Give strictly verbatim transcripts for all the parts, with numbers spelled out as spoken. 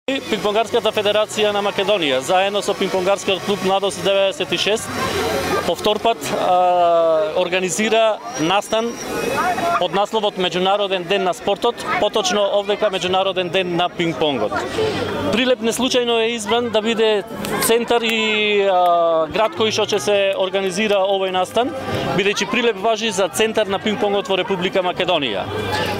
Пингпонгарската федерација на Македонија, заедно со Пингпонгарскиот клуб Младост деветдесет и шест, по втор пат а, организира настан под насловот Меѓународен ден на спортот, поточно овдека Меѓународен ден на пингпонгот. Прилеп не случајно е избран да биде центар и а, град кој што ќе се организира овој настан, бидејќи Прилеп важи за центар на пингпонгот во Република Македонија.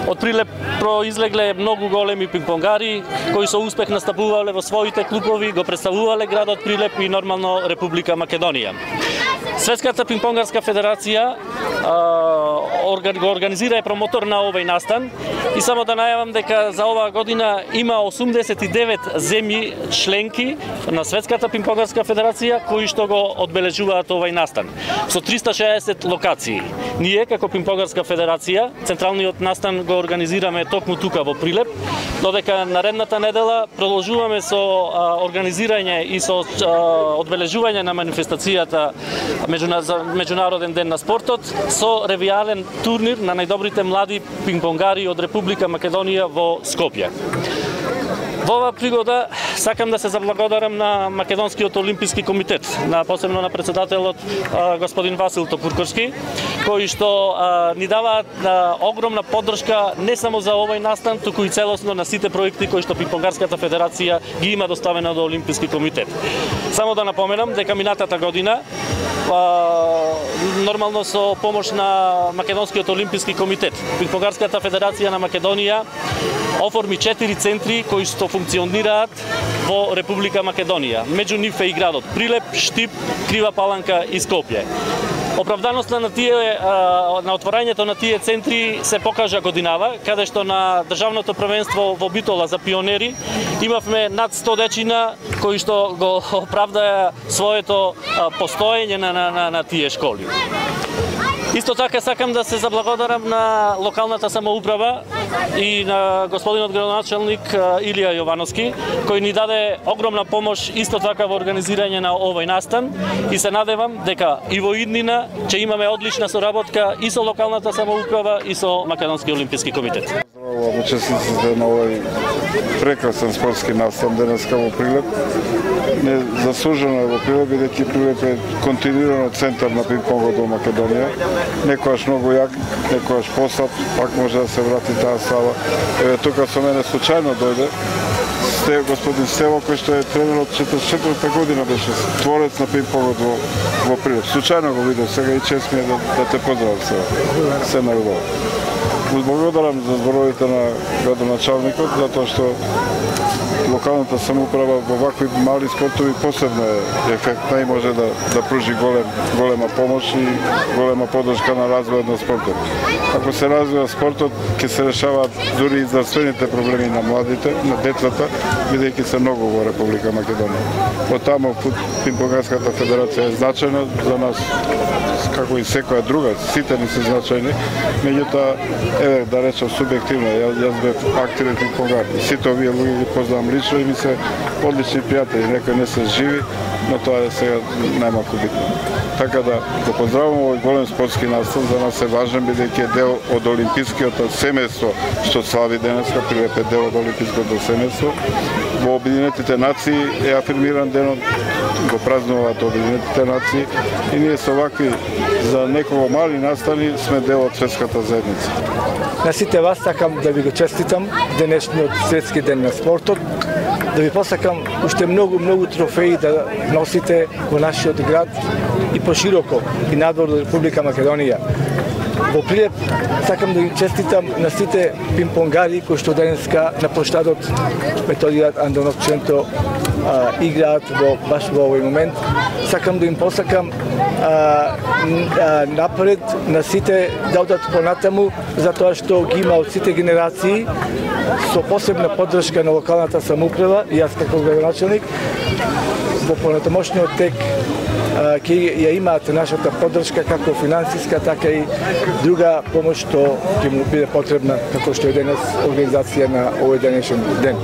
Од Прилеп произлегле многу големи пингпонгари кои со успех настапувале во своите клубови, го представувале градот Прилеп и нормално Република Македонија. Светската пингпонгарска федерација го организира е промотор на овој настан и само да најавам дека за оваа година има осумдесет и девет земји членки на Светската пингпонгарска федерација кои што го одбележуваат овој настан со триста и шеесет локации. Ние како Пингпонгарска федерација централниот настан го организираме токму тука во Прилеп, додека наредната недела продолжуваме со а, организирање и со а, одбележување на манифестацијата Меѓународен ден на спортот со ревијален турнир на најдобрите млади пингпонгари од Република Македонија во Скопје. Во оваа пригода сакам да се заблагодарам на Македонскиот олимписки комитет, на посебно на председателот а, господин Васил Топурковски, кои што а, ни даваат а, огромна поддршка не само за овој настан, туку и целосно на сите проекти кои што Пингпонгарската федерација ги има доставено до Олимписки комитет. Само да напоменам дека минатата година а, нормално со помош на Македонскиот олимписки комитет, Пингпонгарската федерација на Македонија оформи четири центри кои што функционираат во Република Македонија. Меѓу нив е и градот Прилеп, Штип, Крива Паланка и Скопје. Оправданоста на тие на отворањето на тие центри се покажа годинава, каде што на државното првенство во Битола за пионери имавме над сто дечина кои што го оправдаа своето постоење на, на, на, на тие школи. Исто така сакам да се заблагодарам на локалната самоуправа и на господинот градоначалник Илија Јовановски, кој ни даде огромна помош исто така во организирање на овој настан и се надевам дека и во иднина ќе имаме одлична соработка и со локалната самоуправа и со Македонски олимписки комитет. Здравувам учесниците на овој прекрасен спортски настан денеска во Прилеп. Не заслужено е во Прилеп, бидејќи Прилеп е континуирано центар на пингпонгот во Македонија. Некојаш многу як, некојаш послаб, пак може да се врати таа сала. Еве тука со мене случајно дојде Сте, господин Стево, кој што е тренер од четиридесет и четврта година, беше творец на пингпонгот во, во Прилеп. Случајно го видев сега и чест ми е да, да те поздравам сега. Се најубаво. Благодарам за зборовите на градоначалникот, затоа што локалната самоуправа во вакви мали спортови посебно е ефектна и може да, да пружи голем, голема помош и голема поддршка на развојот на спортот. Ако се развива спортот, ќе се решаваат дури и здравствените проблеми на младите, на децата, бидејќи се многу во Република Македонија. Од таму Пингпонгарската федерација е значајна за нас, како и секоја друга, сите ни се значајни, меѓутоа, еве да речам субјективно, јас, јас бев активен пингпонгар. Сите овие луѓе ги познавам лично и ми се одлични пријатели, некои не се живи, но тоа е сега најмалку битно. Така да го поздравувам овој голем спортски настан, за нас е важен бидејќи е дел од олимпискиот семејство што слави денеска, Прилеп е дел од олимпиското семејство. Во Обединетите нации е афирмиран денот, го празнуваат Обединетите нации и ние со вакви за неколку мали настани сме дел од светската заедница. На сите вас сакам да ви го честитам денешниот светски ден на спортот, да ви посакам уште многу, многу трофеи да носите во нашиот град и пошироко и надвор од Република Македонија. Во Прилеп сакам да ги честитам на сите пингпонгари кои што денеска на площадот Методијат Андонов Ченто а, играат во баш во овој момент. Сакам да им посакам а, а, напред на сите да одат понатаму, затоа што ги има од сите генерации со посебна поддршка на локалната самоуправа и јас како градоначалник во понатамошниот тек ќе ја имаат нашата поддршка како финансиска, така и друга помош што ќе му биде потребна како што е денес организација на овој денешен ден.